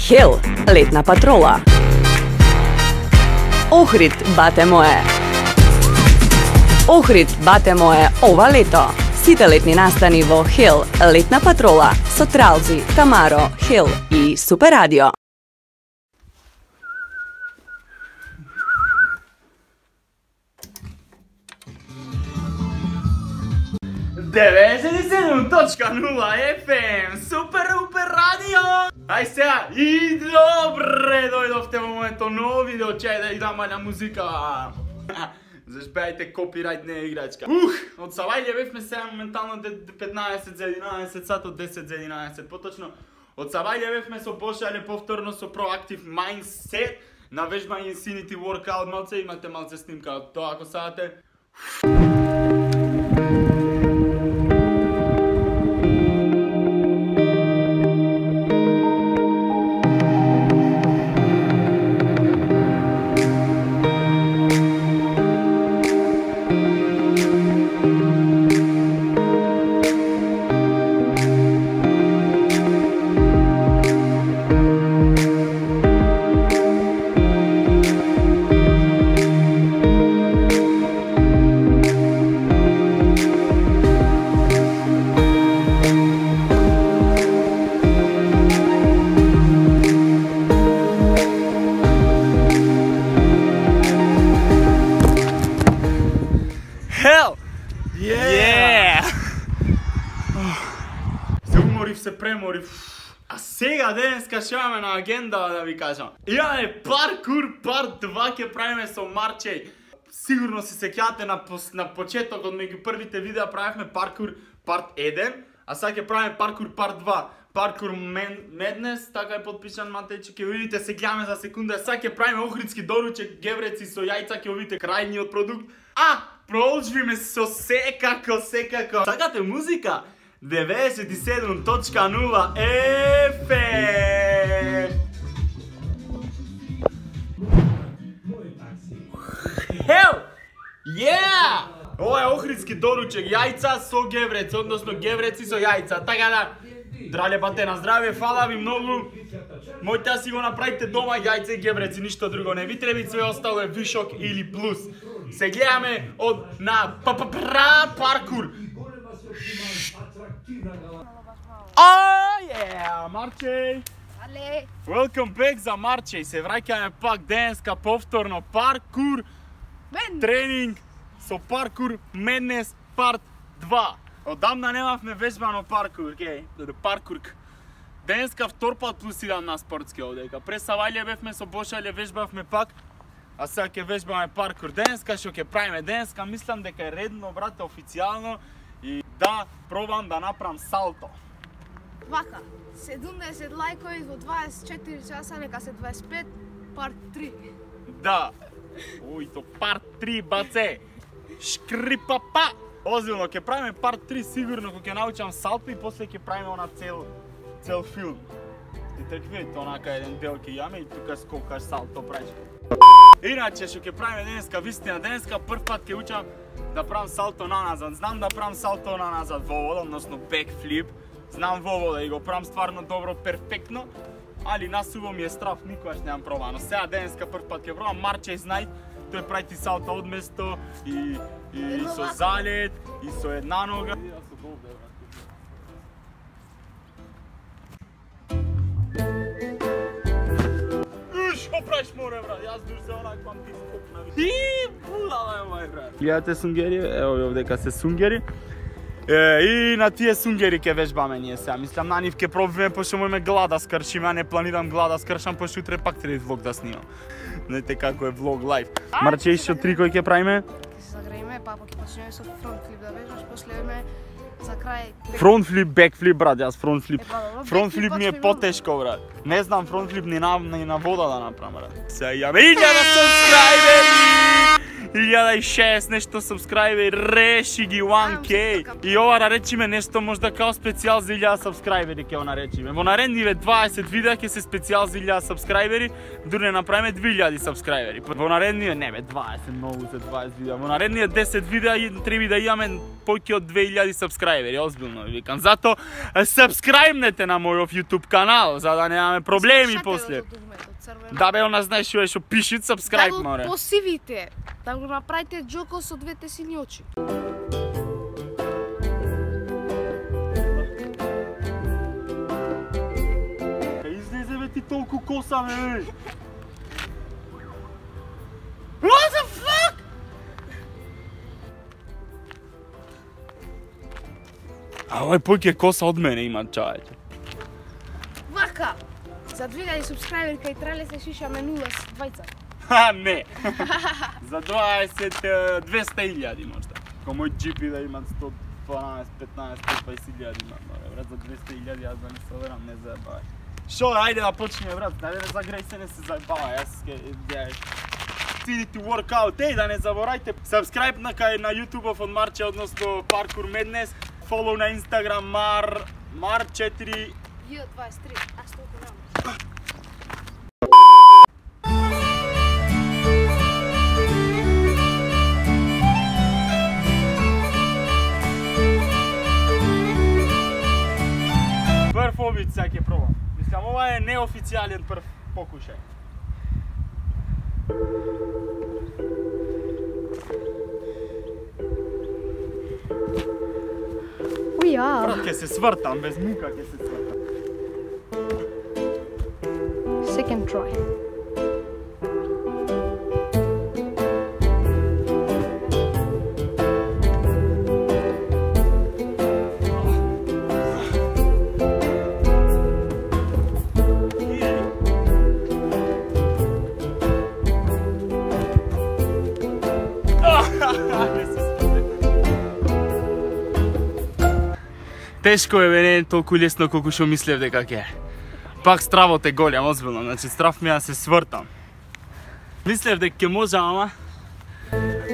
Хел, летна патрола. Охрид, бате мое. Охрид, бате мое, ова лето. Сите летни настани во Хел, летна патрола, со Тралзи, Тамаро, Хел и Супер Радио. FM, Супер Радио! Ај сега, и добре дојдовте во моето ново видео, чај да идам маља музика. Зашпејајте копирајт не играчка. Од Савајле бевме сега моментално 15 за 11 сат, од 10 за 11 поточно. Од Савајле бевме со Бошале повторно со Proactive Mindset на вежба Infinity Workout, малце имате малце снимка од тоа ако сакате. Hell! Yeah! Се уморив, се преморив. А сега денеска ќе имаме на агенда да ви кажам. Имаме паркур парт 2 ќе правиме со Марчеј. Сигурно се сеќавате на почетокот меѓу првите видеа правевме паркур парт 1, а сега ќе правиме паркур парт 2. Паркур Меднес, така е подпишан Матејче, ќе видите, се гледаме за секунда. Сега ќе правиме охридски доручек, гевреци со јајца, ќе видите крајниот продукт. Продолжиме со секако. Сакате музика? 97.0 FM. Hell! Yeah! Ова е охридски доручек, јајца со гевреци, односно гевреци со јајца. Така да, драле бате на здравје, фала ви многу. Мојте да си го направите дома јајца и гевреци, ништо друго не ви треба, све остало е вишок или плюс. Се гледаме од на паркур. Марчеј! Welcome back за Марчеј. Се враќаме пак денеска повторно паркур тренинг со паркур Меднес парт 2. Одамна немавме вежбано паркур, паркурк. Денеска втор пат плюс идам на спортски одека. Пред Савајле бевме со Бошале, вежбавме пак. А сега ќе вежбаме паркур. Денеска што ќе правиме? Денеска мислам дека е редно, брате, официјално и да пробам да направам салто. Вака, 70 лајкови во 24 часа, нека се 25, парт 3. Да. То парт 3, баце. Шкрипапа. Озбилно, ќе правиме парт 3 сигурно кога ќе научам салто и после ќе правиме она цел филм. И така видите, онака еден дел ќе јаме и тука скокаш салто правиш. Иначе што ќе правиме денеска, вистина, денеска прв пат ќе учам да правам салто наназад. Знам да правам салто наназад во вода, односно бекфлип. Знам во вода и го правам стварно добро, перфектно. Али насуво ми е страф, никогаш немам пробано. Сега денеска прв пат ќе пробам, Марчеј знај, тој прави ти салто од место и со залет, и со една нога. Што правиш море, брат? Јас дур се онаквам ти скопнави. Будала е, мај брат. Гледате сунгери, ево овдека се сунгери. И на тие сунгери ќе вежбаме ние сега. Мислам на нив ќе пробиме, пошто имаме глада скршим, а не планирам глада скршам, пошто утре пак треба влог да снимам. Знаете како е влог лайф. Марчеј, што трикој ќе правиме? Ќе се загрееме, па ќе почнеме со фронтфлип да вежбаш, после идеме за крај. Фронтфлип, бекфлип, брат, јас фронтфлип. Фронтфлип ми е потешко, брат. Не знам фронтфлип ни на вода да направам, брат. Сега имаме 1000 сабскрајбери! 1006 нешто сабскрајбери, реши ги 1K. И ова да речиме нешто можда као специјал за 1000 сабскрајбери ќе го наречиме. Во наредниве 20 видеа ќе се специјал за 1000 сабскрајбери, дури не направиме 2000 сабскрајбери. Во наредниве не бе 20 многу за 20 видеа. Во наредниве 10 видеа треба да имаме поќе од 2000 сабскрајбери, озбилно ви викам. Зато сабскрајбнете на мојов YouTube канал за да немаме проблеми после. Да бе, она знаеш што пишет subscribe, море. Да го посивите, да го направите џоко со двете сини очи. Излезе бе ти толку коса, бе. What the fuck? А овај поќе коса од мене има, чајче. Вака! За 2000 субскрайбери кај трале се шишаме 0 двајца. Ха, не! За 200.000 можда. Ко мој GP да имат 112, 15, 120.000 имат, брат, за 200.000 јас да не се верам, не заебавај. Шо, ајде да почнеме, брат, да не загреј се, не се заебавај, јас ке... Tidite workout, еј, да не заборајте, subscribe на YouTube-ов од Марче, односно Parkour Madness, follow на Instagram Mar4 J23, аз толку нямам. Прв обид сега ќе пробам. Мислам, ова е неофицијален прв покушај. Уја! Брат, ќе се свртам, без мука ќе се свртам. Second try. Тешко е, бе, не е толку лесно колку што мислев дека ќе. Пак стравот е голем, озбилно, значи страв ми да се свртам. Мислев дека ќе можам,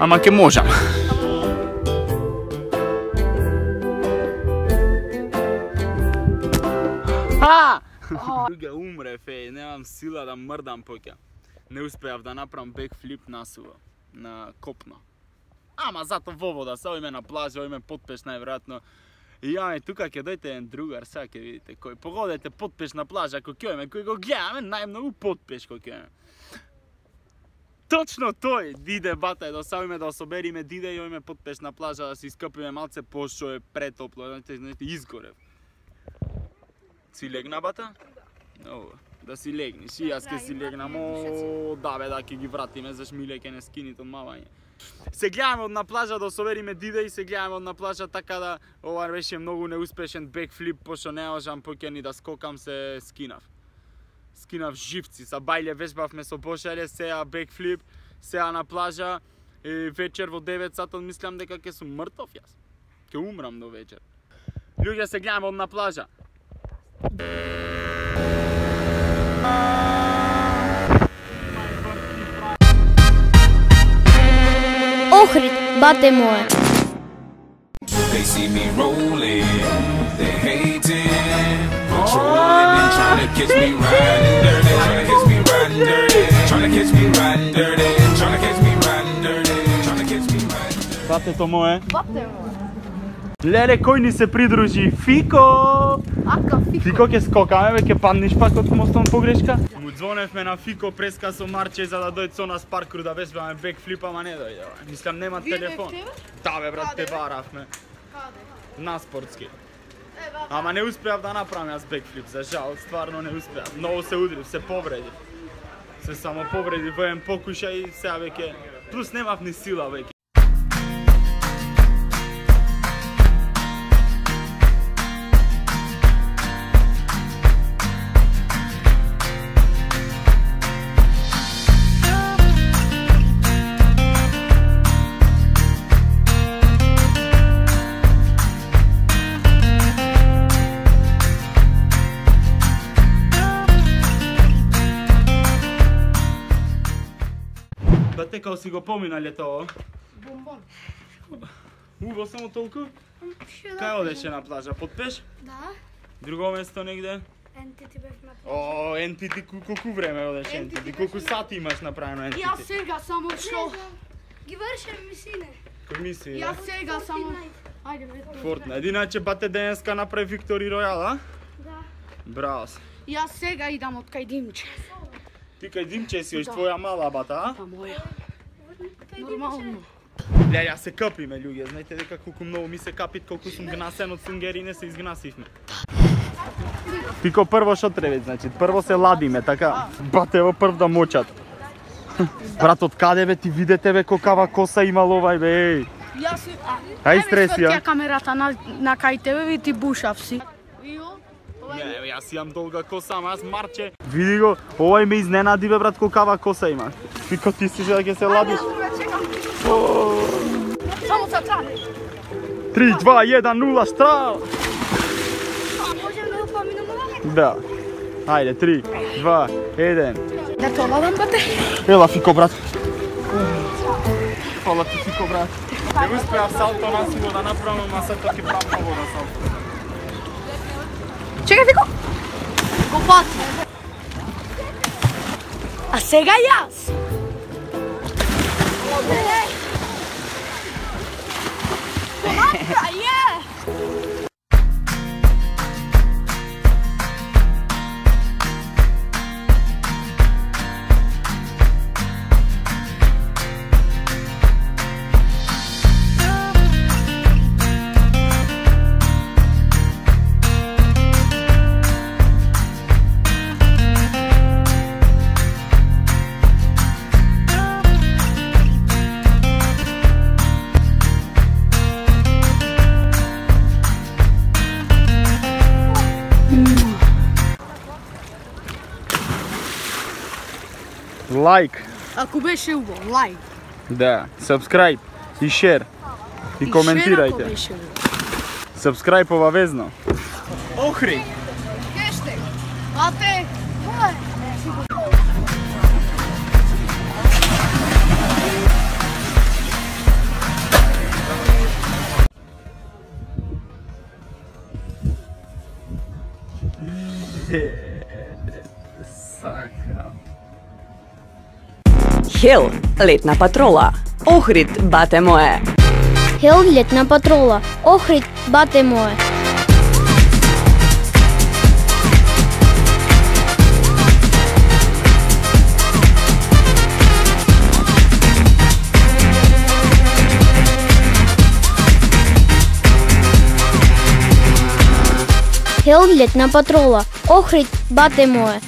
ама ќе можам. Друга умрев, немам сила да мрдам поќе. Не успеав да направам бекфлип насува, на копно. Ама зато во вода, се ојме на плажа, ојме потпеш најверојатно. И јаме тука ќе дојде еден другар, сега ќе видите кој. Погодете потпеш на плажа, кој ќе ојме, кој го гледаме, најмногу потпеш кој ќе ојме. Точно тој, диде бата, да савиме да собериме, диде и ојме потпеш на плажа, да се искапиме малце пошто е претопло, знаете, изгорев. Си легна бата? Да. Да си легниш, и јас ќе си легнам, да бе, да ќе ги вратиме, заш миле ќе не скинит од мавање. Се гледаме од на плажа да собериме диде и се гледаме од на плажа така да ова беше многу неуспешен бекфлип, пошто не можам поќе ни да скокам, се скинав. Скинав живци, са бајле вежбавме со Бошеле, сеја бекфлип, сеја на плажа и вечер во 9 сатот мислам дека ќе сум мртов јас. Ќе умрам до вечер. Луѓе, се гледаме од на плажа. Охрид, бате моје. They see me rolling, they hating, controlling and trying to catch me riding dirty, trying to catch me riding dirty, trying to catch me riding dirty, trying to catch me riding dirty, trying to catch me riding dirty. Батето мое. Бате моје. Леле, кој ни се придружи? Фико! Ака, Фико. Фико ќе скокаме, бе, ќе паднеш пак од мостом погрешка. Му звоневме на Фико преска со Марче за да дојде со нас паркур да вежбаме бекфлип, ама не дојде. Мислам нема телефон. Да бе, брат, те баравме. Каде? На спортски. Ама не успеав да направам јас бекфлип, за жал, стварно не успеав. Многу се удрив, се повредив. Се само повредив во еден покушај и сега веќе плюс немав ни сила веќе. брате, као си го помина летово? Бомбон. Во само толку? Кај одеше на плажа? Под пеш? Да. Друго место негде? NTT бев на плажа. О, NTT, колку време одеш NTT? Колку сати имаш направено NTT? Јас сега само што? Ги вршам мисине. Кој мисли? Јас сега само... Ајде, бе. Fortnite. Иначе бате денеска направи Victory Royale, а? Да. Браво. Јас сега идам од кај Димче. Ти кај Димче си, твоја мала бата, а? Па моја. Нормално. Ле, ја се капиме, луѓе. Знаете дека колку многу ми се капит, колку сум гнасен од сунгерине, се изгнасивме. Пико прво што треба, значи, прво се ладиме, така, батево прв да мочат. Брат, од каде бе ти видете бе какава коса имал овај бе, еј. Јас Ај стреси, а? Ја камерата на кај тебе ви ти бушав си. Не, јас имам долга коса, ама јас марче. Види го, овај ме изненади бе брат какава коса има. Пико ти си да ќе се ладиш. Само за това. 3, 2, 1, 0, штрал! Можем да упоминаме? Да. Ајде, 3, 2, 1. Да то ладам, бате? Ела, Фико, брат. Фала ти, Фико, брат. Не успеав салто на сило да направам, ама се тоа ќе правам ново да салто. Чекај, Фико! Го пати. А сега јас! Лайк. Ако беше убаво, лайк. Да, subscribe и share. И коментирајте. Subscribe обавезно. Охрид. Хештег. Бате. Хил, летна патрола. Охрид, бате мое. Хел, летна патрола. Охрид, бате мое. Хел, летна патрола. Охрид, бате мое.